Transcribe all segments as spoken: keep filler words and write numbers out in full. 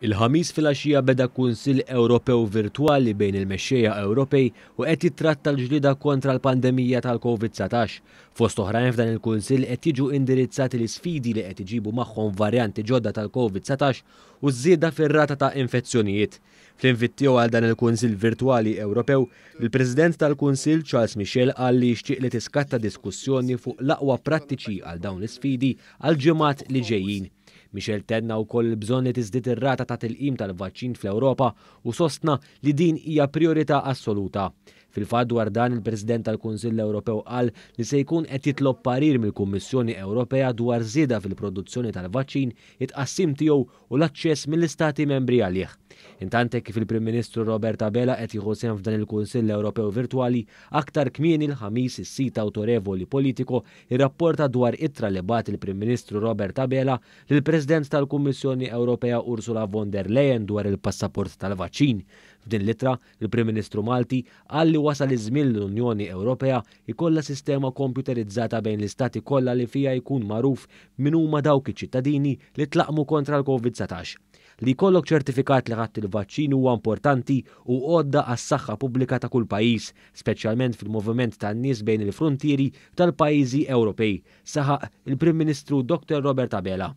Il-Ħamis filgħaxija beda Kunsill Ewropew virtwali bejn il-mexxejja Ewropej u qed jitratta l-ġlieda kontra l-pandemija tal-Covid dsatax. Fost oħrajn f'dan il-Kunsill qed jiġu indirizzati l-isfidi li qed iġibu magħhom varjanti ġodda tal-Covid dsatax u żieda fir-rata ta' infezzjonijiet. Fl-invit tiegħu għal dan il-Kunsill Virtwali Ewropew, il-President tal-Kunsill Charles Michel qal li jixtieq li tiskatta diskussjoni fuq l-aqwa prattiċi għal dawn l-isfidi għal ġimgħat li ġejjin. Michel tenna wkoll il-bżonn li tiżdied ir-rata ta' tilqim tal-vaċċin fl-Ewropa u sostna li din hija priorità assoluta. Fil-fatt dwar dan il-President tal-Kunsill Ewropew qal li se jkun qed jitlob parir mill-Kummissjoni Ewropea dwar żieda fil-produzzjoni tal-vaċċin, it-tqassim tiegħu u l-aċċess mill-Istati membri għalih. Intant kif il-Prim Ministru Robert Abela qed jieħu sehem f'dan il-Kunsill Ewropew virtwali, aktar kmieni l-Ħamis is-sit awtorevoli Politico irrapporta dwar ittra li bagħat il-Prim Ministru Robert Abela lill-President tal-Kummissjoni Ewropea Ursula von der Leyen dwar il-passaport tal-vaċċin. F'din l-ittra, il-Prim Ministru Malti qal li wasal iż-żmien l-Unjoni Ewropea jkollha sistema komputerizzata bejn l-istati kollha li fiha jkun magħruf min huma dawk iċ-ċittadini li tlaqmu kontra l-Covid dsatax. Li jkollok ċertifikat li ħadt il-vaċċin huwa importanti u għodda għas-saħħa pubblika ta' kull pajjiż, speċjalment fil-moviment tan-nies bejn il-frontieri tal-pajjiżi Ewropej, saħaq il-Prim Ministru Doktor Robert Abela.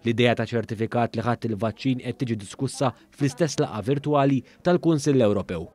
L-idea ta' ċertifikat li ħadd il-vaċċin qed tiġi diskussa fl-istess laqgħa virtwali tal-Kunsill Ewropew.